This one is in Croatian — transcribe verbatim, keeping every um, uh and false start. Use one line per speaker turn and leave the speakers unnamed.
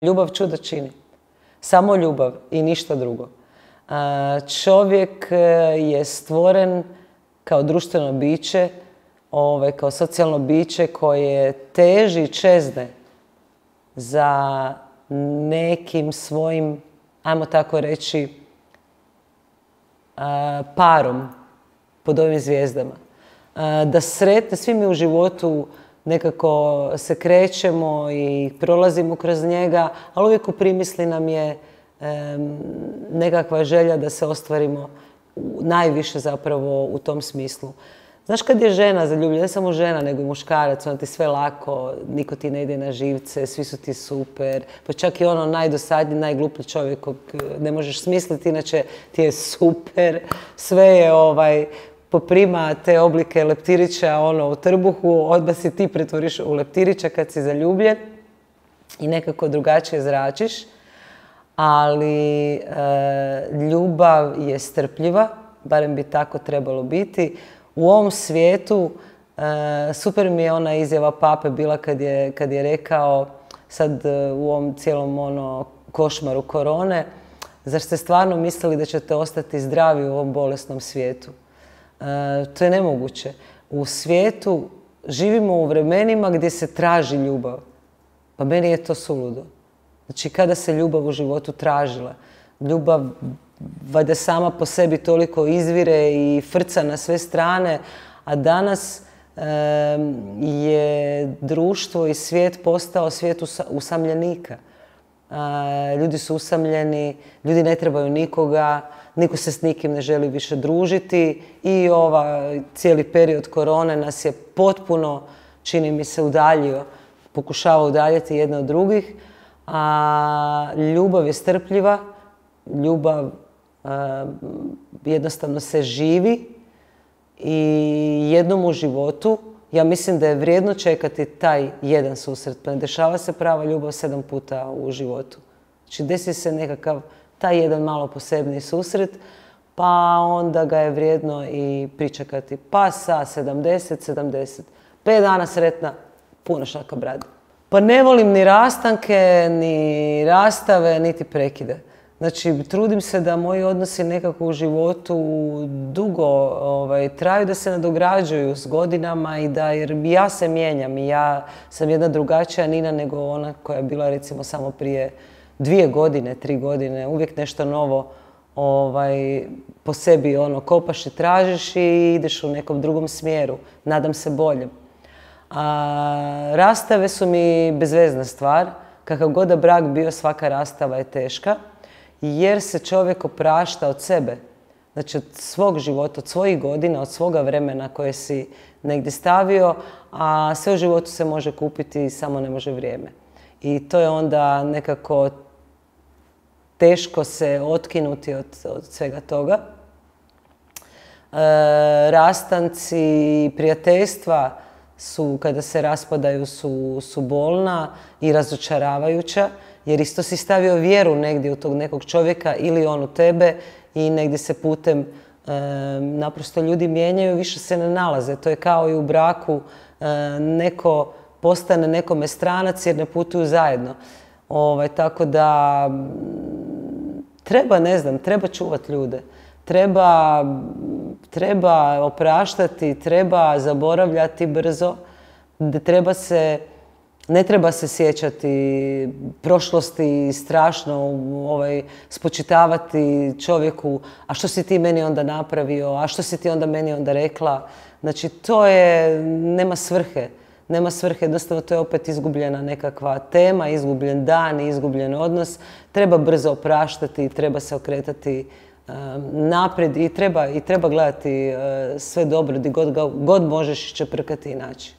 Ljubav čuda čini. Samo ljubav i ništa drugo. Čovjek je stvoren kao društveno biće, kao socijalno biće koje teži i čezne za nekim svojim, ajmo tako reći, parom pod ovim zvijezdama. Da sretne, svi mi u životu nekako se krećemo i prolazimo kroz njega, ali uvijek u primisli nam je nekakva želja da se ostvarimo najviše zapravo u tom smislu. Znaš, kad je žena zaljubljena, ne samo žena, nego i muškarac, onda ti sve lako, niko ti ne ide na živce, svi su ti super, pa čak i ono najdosadniji, najgluplji čovjek kog ne možeš smisliti, inače ti je super, sve je ovaj, poprima te oblike leptirića ono, u trbuhu, odmah si ti pretvoriš u leptirića kad si zaljubljen i nekako drugačije zračiš, ali e, ljubav je strpljiva, barem bi tako trebalo biti. U ovom svijetu, e, super mi je ona izjava pape bila kad je, kad je rekao sad e, u ovom cijelom ono, košmaru korone, zar ste stvarno mislili da ćete ostati zdravi u ovom bolesnom svijetu? E, to je nemoguće. U svijetu živimo u vremenima gdje se traži ljubav. Pa meni je to suludo. Znači, kada se ljubav u životu tražila? Ljubav valjda sama po sebi toliko izvire i frca na sve strane, a danas e, je društvo i svijet postao svijet usamljenika. E, ljudi su usamljeni, ljudi ne trebaju nikoga, niko se s nikim ne želi više družiti i ovaj cijeli period korone nas je potpuno, čini mi se, udaljio, pokušava udaljiti jedne od drugih, a ljubav je strpljiva, ljubav jednostavno se živi i jednom u životu ja mislim da je vrijedno čekati taj jedan susret. Pa ne dešava se prava ljubav sedam puta u životu. Znači desi se nekakav taj jedan malo posebni susret, pa onda ga je vrijedno i pričekati. Pa sa sedamdeset, sedamdeset. Pet dana sretna, puno šaka brade. Pa ne volim ni rastanke, ni rastave, niti prekide. Znači, trudim se da moji odnosi nekako u životu dugo ovaj, traju, da se nadograđuju s godinama i da, jer ja se mijenjam i ja sam jedna drugačija Nina nego ona koja je bila recimo samo prije dvije godine, tri godine. Uvijek nešto novo ovaj, po sebi ono, kopaš i tražiš i ideš u nekom drugom smjeru. Nadam se boljem. A, rastave su mi bezvezna stvar. Kakav god da brak bio, svaka rastava je teška. Jer se čovjek oprašta od sebe, znači od svog života, od svojih godina, od svoga vremena koje si negdje stavio, a sve u životu se može kupiti, samo ne može vrijeme. I to je onda nekako teško se otkinuti od, od svega toga. E, rastanci, prijateljstva su, kada se raspadaju, su, su bolna i razočaravajuća. Jer isto si stavio vjeru negdje u tog nekog čovjeka ili on u tebe i negdje se putem e, naprosto ljudi mijenjaju, više se ne nalaze. To je kao i u braku, e, neko postane nekome stranac jer ne putuju zajedno. Ovaj, tako da treba, ne znam, treba čuvati ljude. Treba, treba opraštati, treba zaboravljati brzo, treba se... Ne treba se sjećati prošlosti strašno, ovaj, spočitavati čovjeku, a što si ti meni onda napravio, a što si ti onda meni onda rekla. Znači, to je, nema svrhe. Nema svrhe, jednostavno to je opet izgubljena nekakva tema, izgubljen dan, izgubljen odnos. Treba brzo opraštati, treba se okretati um, naprijed i treba, i treba gledati uh, sve dobro, gdje god, god možeš čeprkati i naći.